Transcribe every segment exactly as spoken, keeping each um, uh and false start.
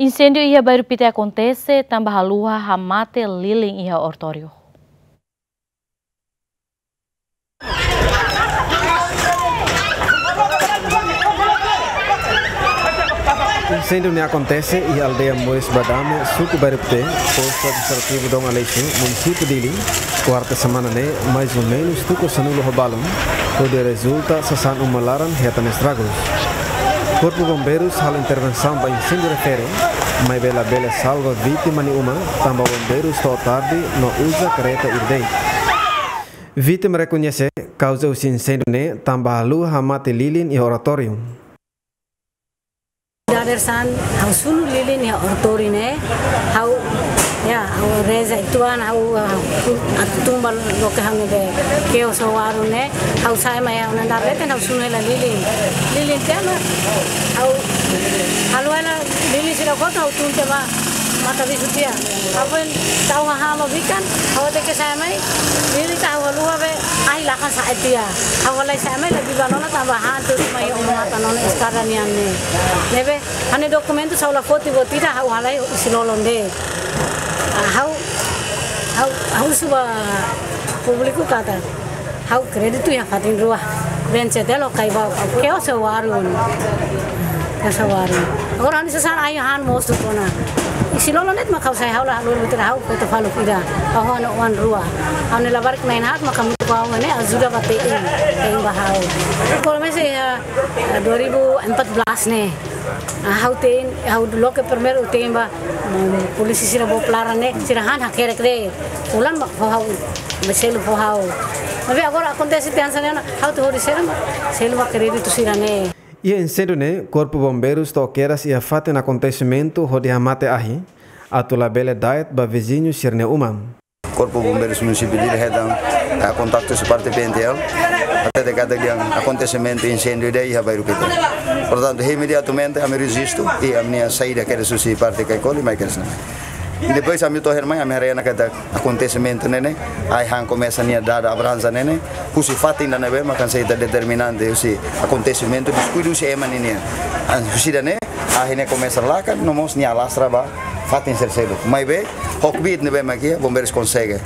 Inséndiu iha Bairru Pite akontese tanba haluha hamate lilin iha oratóriu. Inséndiu ne'e akontese iha aldeia Moris Badame, suku Bairru Pite, postu administrativu Dom Aleixo, munisípiu Dili, kuarta semana ne'e, mais ou menus tuku sanulu ho balun, hodi rezulta sasán uma laran hetan estragus. Korpu Bombeirus halo intervensaun ba inséndiu refere, maibé labele salva vítima nia uma, tanba bombeirus to'o tarde no uza kareta ida de'it. Vítima rekoñese kauza husi inséndiu ne'e tanba haluha hamate lilin iha oratóriu. Dadeer-saan, ha'u sunu lilin iha oratóriu ne'e, ha'u, ya, ha'u reza uitoan, ha'u, ha'u, atu tun ba loke ha'u ne'ebé ke'os ho warun ne'e, ha'u sa'e mai ha'u-nia andar leten, ha'u sunu hela lilin. Lilin tiha ona, ha'u, ha'u halo hela lilin sira kotuk, ha'u tun tiha ba matan bisu tiha. Ha'u foin tau hahán ba bikan, ha'u tenke sa'e mai, lilin ita ha'u haluha be, ahi lakan sa'e tiha. Ha'u halai sa'e mai la biban ona tanba han tuur mai ho matan ona eskada nian ne'e. Ne'ebé, ha'u-nia dokumentu sira ha'u la foti buat ida, ha'u halai isin-lolon de'it. Ah, ha'u, ha'u, ha'u husu ba públiku katak ha'u kréditu iha fatin rua. Been C T L ho Caiba, ke'os ho warun. Ke'os ho warun. Agora ha'u-nia sasán ahi han mosu kona. Isin-lolon de'it mak ha'u sa'e, ha'u la haluha buat ida, ha'u feto faluk ida. Ha'u ho ha'u-nia oan rua. Ha'u-nia labarik na'in haat mak hamutuk ho ha'u ne'e ajuda ba te'in. Te'in ba ha'u. Komesa iha, eh, dua ribu empat belas ne'e. Ah, ha'u te'in, ha'u loke primeiru te'in ba, mm, polísia sira book laran ne'e, sira han hakerek de'it. Fulan mak fó ha'u, be selu fó ha'u. Maibé agora akontese tiha hanesan ne'e ona, ha'u atu hodi selu, selu ba kréditu sira ne'e. Iha inséndiu ne'e, Korpu Bombeirus to'o kedas iha fatin akontesimentu hodi hamate ahi, atu labele da'et ba viziñu sira-nia uma. Korpu Bombeirus Munisípiu Dili hetan, eh, kontaktu husi parte P N T L, hatete katak iha akontesimentu inséndiu ida iha Bairru Pite. Portantu, imediatamente ami rejistu i ami-nia saida kedas husi parte Caicoli mai kedas ne'e. Depois ami to'o iha ne'e mai, ami haree ona katak akontesimentu ne'e ne'e, ahi han komesa nia dada abransa ne'e ne'e, husi fatin ida ne'ebé mak hanesan ita determinante husi akontesimentu, diskuidu husi ema ninian. Ah, husi ida ne'e, ahi ne'e komesa lakan, no mós nia alastra ba fatin sira seluk. Maibé, ho kbiit ne'ebé mak iha, bombeirus konsege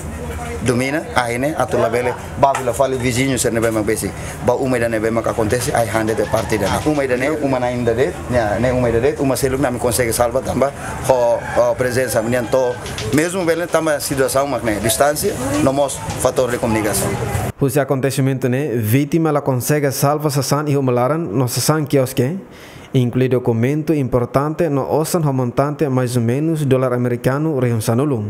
domina, ahi ne'e atu labele ba fila fali viziñu sira ne'ebé mak besik ba uma ida ne'ebé mak akontese, ahi han de'it parte ida ne'e. Uma ida ne'e, uma na'in ida de'it, ne'e, ne'e uma ida de'it, uma seluk ne'e ami konsege salva tanba ho, ho prezensa ami-nian to'o. Mezmu bele tanba situasaun mak ne'e, distánsia, no mós fatór de komunikasaun. Husi akontesimentu ne'e, vítima la konsege salva sasán iha uma laran no sasán kioske, inklui dokumentu importante no osan ho montante mais ou menus dolar amerikanu rihun sanulu.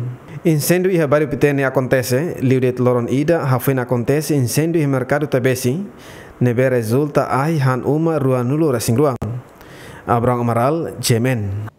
Inséndiu iha Bairru Pite ne'e akontese liu de'it loron ida hafoin akontese inséndiu iha Merkadu Taibesi, ne'ebé rezulta ahi han uma ruanulu-resin-rua. Abrão Amaral, G M N.